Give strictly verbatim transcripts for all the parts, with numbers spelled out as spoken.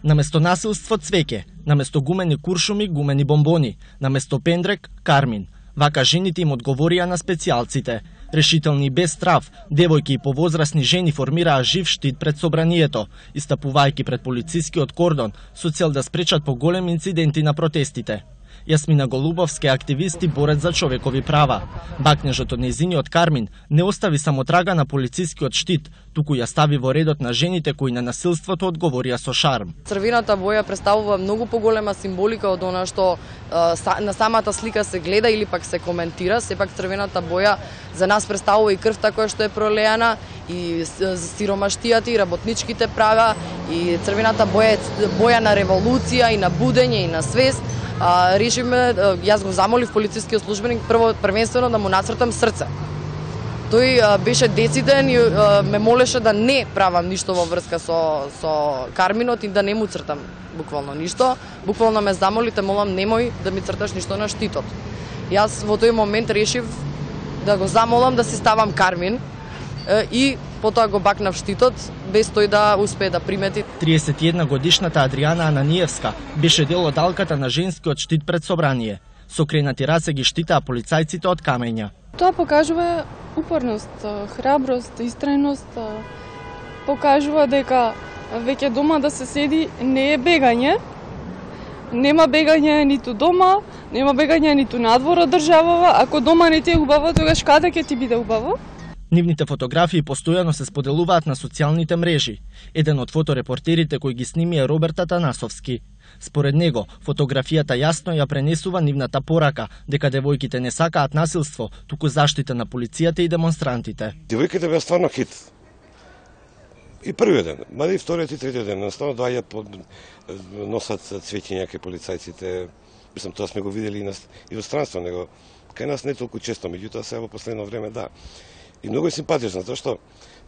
Наместо насилство цвеќе, наместо гумени куршуми, гумени бомбони, наместо пендрек, кармин. Вака жените им одговорија на специјалците. Решителни и без страв, девојки и повозрасни жени формираа жив штит пред собранието, истапувајќи пред полицискиот кордон со цел да спречат поголеми инциденти на протестите. Јасмина Голубовска, активист и борец за човекови права. Бакнежот од нејзиниот кармин не остави само трага на полицискиот штит, туку ја стави во редот на жените кои на насилството одговорија со шарм. Црвената боја представува многу поголема символика од она што е, на самата слика се гледа или пак се коментира. Сепак црвената боја за нас представува и крвта која што е пролеана, и сиромаштијата и работничките права, и црвената боја е боја на револуција и на будење и на свест. А, решиме, јас го замолив полицискиот службеник прво првенствено да му нацртам срце. Тој а, беше дециден и а, ме молеше да не правам ништо во врска со со карминот и да не му цртам буквално ништо. Буквално ме замоли, те молам, немој да ми црташ ништо на штитот. Јас во тој момент решив да го замолам да си ставам кармин и потоа го бакнав штитот, без тој да успее да примети. триесет и една годишната Адријана Ананиевска беше дел од алката на женскиот штит пред собрание. Сокренати раце ги штитаа полицајците од камења. Тоа покажува упорност, храброст, истрајност, покажува дека веќе дома да се седи не е бегање. Нема бегање ниту дома, нема бегање ниту надвор од државава. Ако дома не ти е убаво, тогаш каде ќе ти биде убаво? Нивните фотографии постојано се споделуваат на социјалните мрежи. Еден од фоторепортерите кој ги сними е Роберт Атанасовски. Според него, фотографијата јасно ја пренесува нивната порака дека девојките не сакаат насилство, туку заштита на полицијата и демонстрантите. Девојките беа стварно хит. И првиот ден, мада и вториот и третиот ден, наставно доаѓаат под носат цвеќиња кај полицајците. Мислам, тоа сме го видели и, на, и во странство, него кај нас не толку често, меѓутоа сега во последно време да. И многу е симпатично, затоа што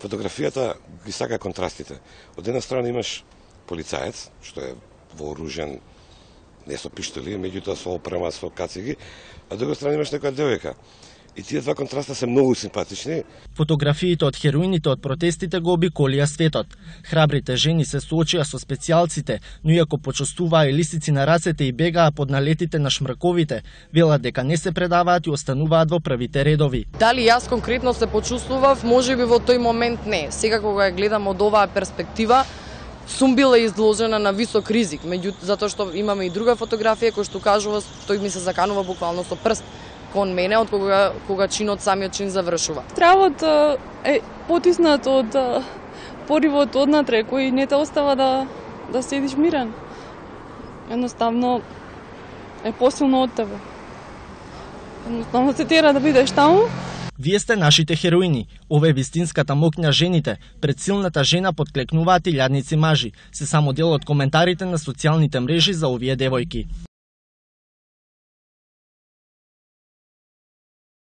фотографијата ги сака контрастите. Од една страна имаш полицаец, што е вооружен, не со пиштоли, меѓутоа со опрема, со кациги, а од друга страна имаш некоја девојка. И тие два контраста се многу симпатични. Фотографиите од хероините од протестите го обиколија светот. Храбрите жени се соочија со специјалците, но иако почувствуваа и лисици на рацете и бегаа под налетите на шмрковите, велат дека не се предаваат и остануваат во првите редови. Дали јас конкретно се почувствував, можеби во тој момент не. Сега кога ја гледам од оваа перспектива, сум била изложена на висок ризик, меѓутоа затоа што имаме и друга фотографија која што кажува, тој ми се заканува буквално со прст кон мене од кога кога чинот самиот чин завршува. Стравот е потиснат од поривот однатре кој не те остава да да седиш мирен. Едноставно е посилно од тебе. Едноставно те тера да бидеш таму. Вие сте нашите хероини. Ова е вистинската моќна жените. Пред силната жена подклекнуваат илјадници мажи. Се само дел од коментарите на социјалните мрежи за овие девојки.